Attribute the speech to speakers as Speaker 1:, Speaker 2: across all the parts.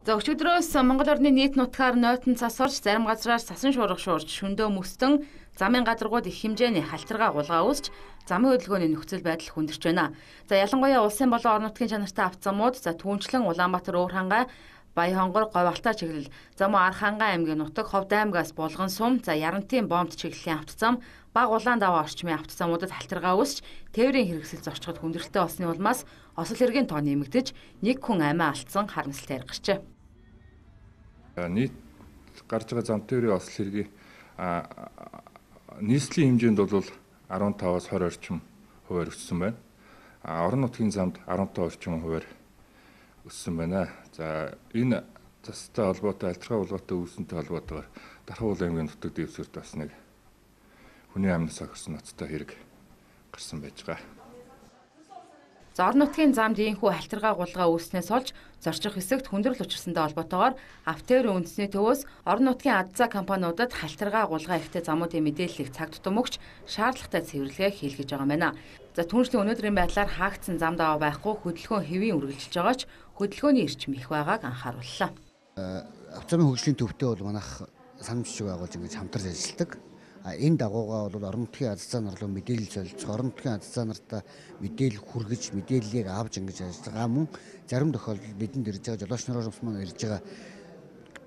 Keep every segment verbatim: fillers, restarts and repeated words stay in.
Speaker 1: За өчигдрөөс Монгол орны нийт нутгаар нойтон цас орж, зарим газраар цасан шуурга шуурж, шөндөө мөстөн замын гадаргууд их хэмжээний халтаргаа гулгаа үүсч, замын хөдөлгөөний нөхцөл байдал хүндэрч байна. За ялангуяа улсын болон орон нутгийн чанартай автозамууд, за түүнчлэн Улаанбаатар, Өвөрхангай, Баян-Хонгор, Говьалтай чиглэл, за мөн Архангай аймгийн нутаг, Ховд-аймгаас Булган сум, за Ярантын Бомт чиглэлийн автозам, Баг улаан даваа орчмын автозамуудад халтаргаа үүсч, тээврийн хэрэгсэл зорчгод хүндрэлтэй болсны улмаас осол хэргийн тоо нэмэгдэж, нэг хүн амиа алдсан харамсалтай гарчээ.
Speaker 2: Нийт гарч байгаа зам тээврийн осол хэргийн нийслэлийн хэмжээнд бол арван таваас хорь орчим хувиар өссөн байна. Орон нутгийн замд арван таван орчим хувиар өссөн байна. За энэ застай холбоотой альтргаа булгаатай үүсэнтэй холбоотойгоор Дархан аймгийн нутаг дэвсгэрт бас нэг хүний амьнаас огсон ноцтой хэрэг гарсан байж байгаа.
Speaker 1: За орон нутгийн замд ийхүү халтаргаа гулгаа үүснээс олж зорчих хэсэгт хүндрэл учирсантай холбоотойгоор автоэрийн үндэсний төвөөс орон нутгийн ад за компаниудад халтаргаа гулгаа ихтэй замуудын мэдээллийг цаг тутам өгч шаардлагатай цэвэрлэгээ хийлгэж байгаа юм байна. За түүнчлэн өнөөдрийн байдлаар хаагдсан зам даваа байхгүй хөдөлгөөн хэвийн үргэлжилж байгаа ч хөдөлгөөний эрчим их байгааг анхаарууллаа.
Speaker 3: Автозамын хөгжлийн төвтэй бол манайх санамжчиг байгуулж ингэж хамтарч ажилладаг. Энэ дагуугаа бол орон нутгийн ад за нар руу мэдээлэл солилцох, орон нутгийн ад за нартай мэдээлэл хүргэж, мэдээллийг авч ингэж ажиллаж байгаа мөн зарим тохиолдолд бидэнд ирж байгаа жолооч нарын маань ирж байгаа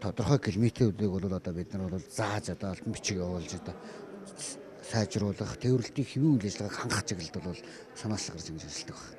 Speaker 3: тодорхой километрүүдийг бол одоо бид нар бол зааж одоо алтан бичиг явуулж одоо сайжруулах, тээвэрлэлтийн хэвийн үйл ажиллагааг хангах чиглэлд бол санаас гарч ингэж ажилладаг байна.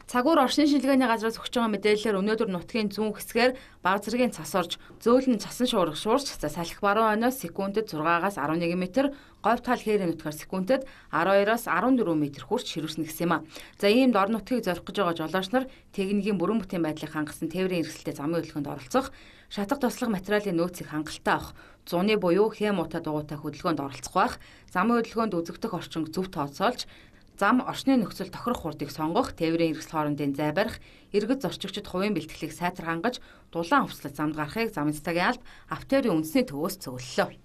Speaker 1: Цагуур оршин шилгээний газраас өгч байгаа мэдээлэлээр өнөөдөр нутгийн зүүн хэсгээр бага зэргийн цас орж, зөөлөн цасан шуурга шуурч, за салхи баруун хойноос секундэд зургаагаас арван нэг метр, говь тал хээрийн нутгаар секундэд арван хоёроос арван дөрвөн метр хүрч ширүүснэ гэсэн юм а. За иймд орон нутгийг зорих гэж байгаа жолооч нар техникийн бүрэн бүтээн байдлыг хангасан тээврийн хэрэгсэлтэй замын хөдөлгөөнд оролцох, шатах туслах материалын нөөцийг хангалттай авах, зуны буюу хэм утаа дугуйтай хөдөлгөөнд оролцох байх, замын хөдөлгөөнд үзэгдэх орчин зөв тооцоолж, зам орчны нөхцөл тохирох хурдыг сонгох, тээврийн хэрэгсэл хоорондын зай барих, иргэд зорчигчид хувийн бэлтгэлийг сайтар хангаж, дулаан хувцлах замд гарахыг замын цэцгийн алба автоэрийн үндэсний төвөөс зөвлөлөө.